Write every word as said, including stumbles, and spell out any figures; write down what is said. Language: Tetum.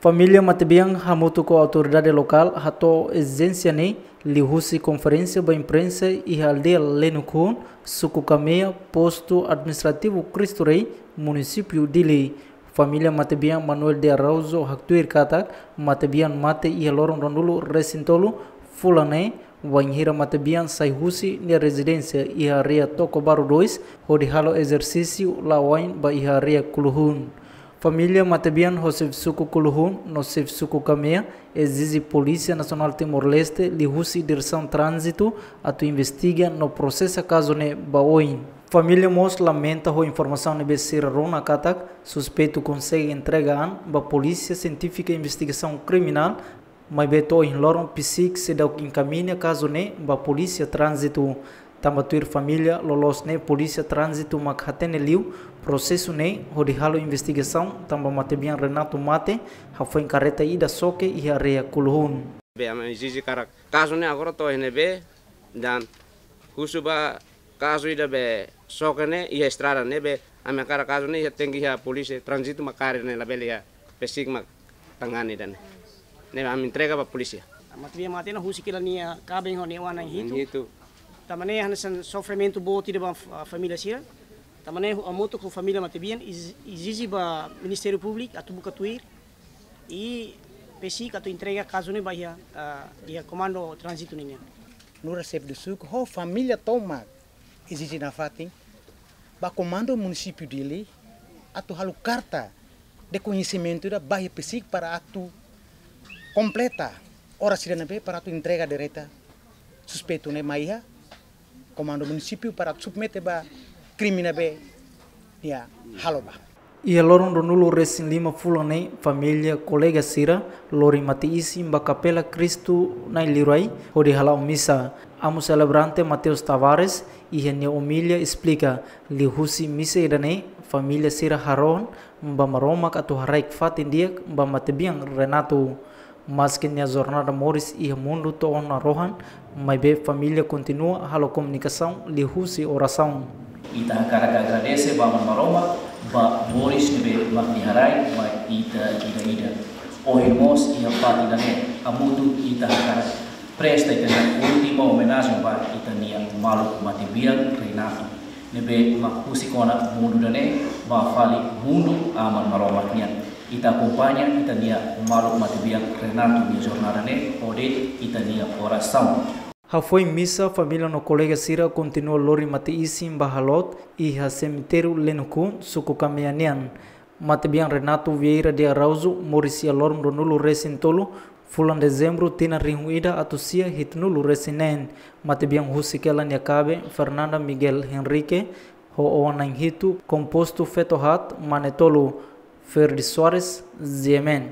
Família matebian hamutuk ho autoridade lokál hato'o ezijénsia ne'e liuhusi konferénsia ba imprensa iha aldeia Lenukun, suku Kamea, postu administrativu Cristo Rei, munisípiu Dili. Família matebian Manuel de Araújo haktuir katak matebian mate iha loron ruanulu-resin-tolu fulan ne'e, wainhira matebian sai husi nia rezidénsia iha área Tocobaru dois, hodi halo ezersísiu la'o wa'in ba iha área Kuluhun. Família matebian ho xefe suku Kuluhun no xefe suku Kamea ezije Polísia Nasionál Timor-Leste liuhusi Diresaun Tránzitu atu investiga no prosesa kazu ne'e ba oin. Família mós lamenta ho informasaun ne'ebé sira rona katak suspeitu konsege entrega an ba Polísia Sientífika Investigasaun Kriminál, maibé to'o ohin loron PCIC seidauk enkamiña kazu ne'e ba Polísia Tránzitu. Tanba tuir família, loloos ne'e Polísia Tránzitu mak hatene liu prosesu ne'e hodi halo investigasaun tanba matebian Renato mate hafoin karreta ida xoke iha área Kuluhun. Be ami ezije katak kazu ne'e agora to'o iha ne'ebé, dan husu ba kazu ida be xoke ne'e iha estrada ne'ebé, ami hakarak kazu ne'e iha, tenke iha Polísia Tránzitu mak kaer ne'e, labele iha PCIC mak tangani ida-ne'e. Ne'ebé ami entrega ba polísia. Matebian mate ne'e husik hela nia kaben ho nia oan na'in hitu. Na'in hitu. Tanba ne'e hanesan sofrimentu boot ida ba f-, família sira. Tanba ne'e hamutuk ho família matebian ez-, ezije ba Ministériu Públiku atu buka tuir. I PCIC atu entrega kazu ne'e ba iha, ah, iha Komandu Tránzitu nian. Nu'udar xefe suku ho família tomak ezije nafatin ba Komandu Munisípiu Dili atu halo karta de koñesimentu ida ba iha PCIC para atu kompleta oras ida ne'ebé para atu entrega direta suspeitu ne'e mai iha Komandu Munisípiu para atu submete ba krime ne'ebé nia halo ba. Iha loron ruanulu-resin-lima fulan ne'e, família kolega sira lori mate-isin ba Kapela Kristu Na'i Liurai hodi hala'o misa. Amu selebrante Mateus Tavares, iha nia omilia esplika, liuhusi misa ida-ne'e, família sira harohan ba Maromak atu haraik fatin di'ak ba matebian Renato. Maski nia jornada moris iha mundu to'o ona rohan, maibé família kontinua halo komunikasaun liuhusi orasaun. Ita hakarak agradese ba Aman Maromak ba moris ne'ebé mak Nia haraik ba ita ida-idak. Ohin mós iha fatin ida-ne'e, hamutuk ita hakarak presta ita-nia última omenajen ba ita-nia maluk matebian Renato, ne'ebé mak husik ona mundu ida-ne'e ba fali mundu Aman Maromak nian. Ita akompaña ita-nia maluk matebian Renato nia jornada ne'e hodi ita-nia orasaun. Hafoin misa, família no kolega sira kontinua lori mate-isin ba halot iha semitériu Lenukun, suku Kamea nian. Matebian Renato Vieira de Araújo moris iha loron ruanulu-resin-tolu fulan Dezembru tinan rihun ida atus sia hitunulu-resin-neen. Matebian husik hela nia kaben Fernanda Miguel Henrique ho oan na'in hitu, kompostu feto haat, mane tolu, Ferdi Soares, G M N.